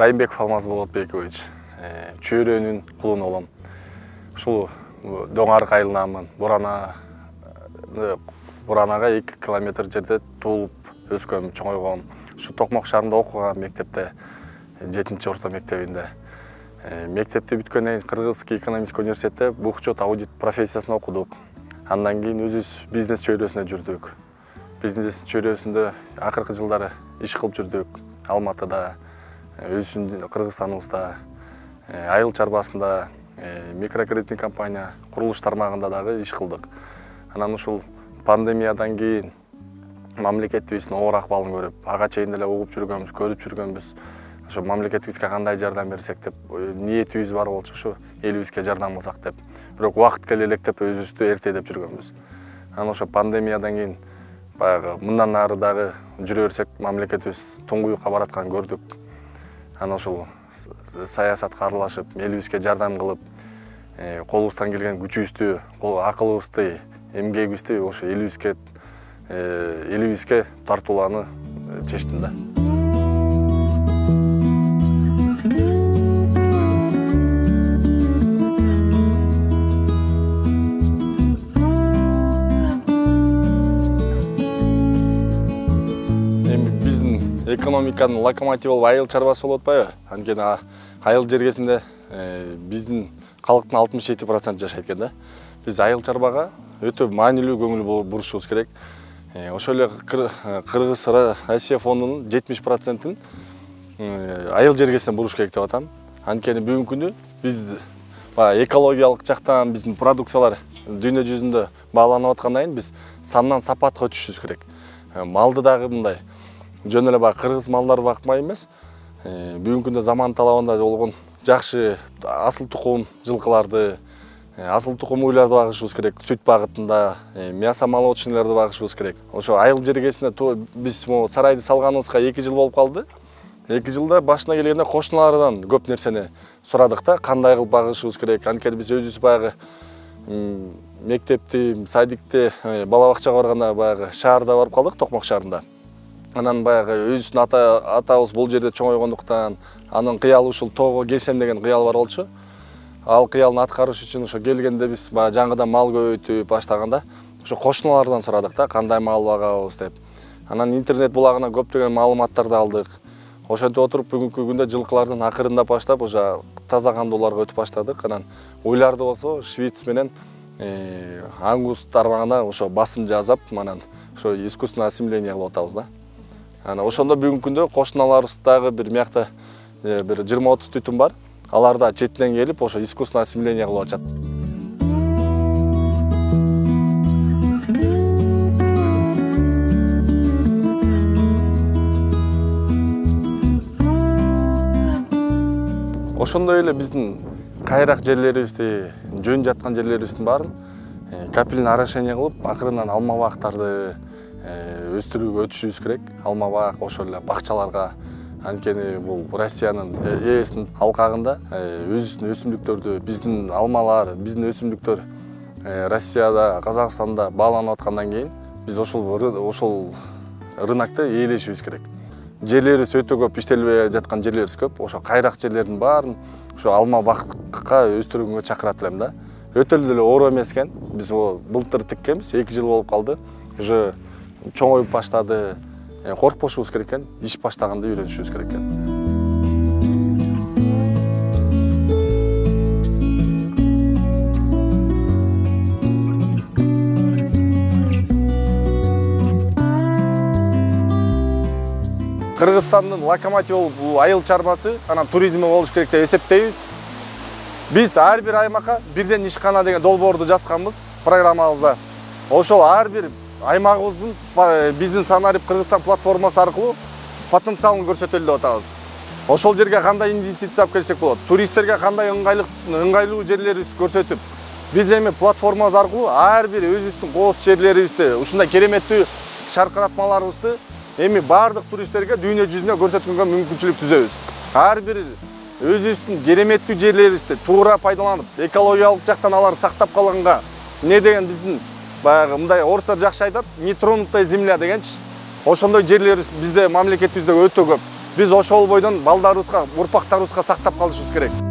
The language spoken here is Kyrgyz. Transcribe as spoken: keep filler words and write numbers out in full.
Райымбеков Алмаз Болотбекович, чөйрөнүн кулуну болом. Ушул Доңарык айылынамын. Бурана Буранага эки километр жерде туулуп өскөм, чоңойгом. Ушу Токмок шаарында окугам мектепте, жетинчи орто мектебинде. Мектепти бүткөндөн кийин Кыргызский экономический университетте бухучет аудит профессиясын окудук. Андан кийин өзүбүз бизнес чөйрөсүндө жүрдүк. Бизнес чөйрөсүндө акыркы жылдары иш кылып жүрдүк. Алматыда, өзүбүздүн Кыргызстаныбызда, айыл чарбасында, микрокредиттик компания, курулуш тармагында дагы иш кылдык. Анан ушул пандемиядан кийин мамлекетибиздин оор акыбалын көрүп, ага чейин деле угуп жүргөнбүз, көрүп жүргөнбүз. Ошо мамлекетибизге кандай жардам берсек деп ниетибиз бар болчу, ушу элибизге жардам кылсак деп. Бирок убакыт келе электеп өзүбүздү эртедеп жүргөнбүз. Анан ошо пандемиядан кийин баягы мындан ары дагы жүрө берсек, мамлекетибиз туңгуюкка баратканын көрдүк. Анан ошол саясатка аралашып, элибизге жардам кылып, колубуздан келген күчүбүздү, акылыбызды, эмгегибизди ошо элибизге элибизге тартууланы чечтим да. Экономиканын локомотивы болуп айыл чарбасы болуп атпайбы? Анткени айыл жергесинде биздин калктын алтымыш жети проценти жашайт экен да. Биз айыл чарбага өтө маанилүү көңүл бурушубуз керек. Ошол эле Кыргыз Россия фондунун жетимиш процентин айыл жергесине буруш керек деп атам. Анткени бүгүнкү күндө биз экологиялык жактан биздин продукциялар дүйнө жүзүндө бааланып аткандан кийин биз сандан сапатка өтүшүбүз керек. Малды дагы мындай жөн эле баягы кыргыз малдарды бакмай эмес, бүгүнкү күндө заман талабында болгон жакшы асыл тукум жылкыларды, асыл тукум уйларды багышыбыз керек. Сүт багытында, мясо молочныйларды багышыбыз керек. Ошо айыл жергесине биз сарайды салганыбызга эки жыл болуп калды. эки жылда башына келгенде кошуналардан көп нерсени сурадык да, кандай кылып багышыбыз керек. Анткени биз өзүбүз баягы мектепти, садикти, бала бакчага барганда баягы шаарда барып калдык, Токмок шаарында. Анан баягы өзүбүздүн атабыз бул жерде чоңойгондуктан, анын кыялы ушул тоого келсем деген кыял бар болчу. Ал кыялын аткарыш үчүн ошо келгенде биз баягы жаңыдан мал көбөйтүп баштаганда ошо кошуналардан сурадык да, кандай мал багабыз деп. Анан интернет булагынан көптөгөн маалыматтарды алдык. Ошентип отуруп бүгүнкү күндө жылкылардын акырында баштап ошо таза кандууларга өтүп баштадык. Анан уйларды болсо Швиц менен Ангус тармагына ошо басым жасап, анан ошо искусственное осемиление кылып атабыз да. Анан ошондо бүгүнкү күндө кошуналарыбыз дагы бир мякта бир жыйырма отуз түтүн бар. Алар да четинен келип ошо искусственное осемиление кылып атышат. Ошондой эле биздин кайрак жерлерибизди, жөн жаткан жерлерибиздин баарын капельный орошение кылып, акырынан алма бактарды өстүрүүгө өтүшүбүз керек. Алма бак, ошол эле бакчаларга. Анткени бул Россиянын ээсинин алкагында өзүбүздүн өсүмдүктөрдү, биздин алмалар, биздин өсүмдүктөр Россияда, Казакстанда бааланып аткандан кийин биз ошол ошол рынокто ээлешибиз керек. Жерлерибиз өтө көп, иштелбей жаткан жерлерибиз көп. Ошо кайрак жерлердин баарын ошо алма бакка өстүргөнгө чакырат элем да. Өтө эле оор эмес экен. Биз былтыр тиккенбиз, эки жыл болуп калды. Уже чоңоюп баштады. Коркпошубуз керек экен, иш баштаганда үйрөнүшүбүз керек экен. Кыргызстандын локомотивы бул айыл чарбасы, анан туризми болуш керек деп эсептейбиз. Биз ар бир аймакка бирден ишкана деген долбоорду жазганбыз программабызда. Ошол ар бир аймагыбыздын биздин Санарип Кыргызстан платформасы аркылуу потенциалын көрсөтөлү деп атабыз. Ошол жерге кандай инвестиция алып келсек болот, туристтерге кандай ыңгайлуу жерлерибизди көрсөтүп, биз эми платформабыз аркылуу ар бир өзүбүздүн кооз жерлерибизди, ушундай кереметтүү шаркыратмаларыбызды эми бардык туристтерге дүйнө жүзүнө көрсөткөнгө мүмкүнчүлүк түзөбүз. Ар бир өзүбүздүн кереметтүү жерлерибизди туура пайдаланып, экологиялык жактан алар сактап калганга, эмне деген биздин баягы мындай орустар жакшы айтат, нетронутая земля дегенчи. Ошондой жерлерибиз бизде мамлекетибизде өтө көп. Биз ошол бойдон балдарыбызга, урпактарыбызга сактап калышыбыз керек.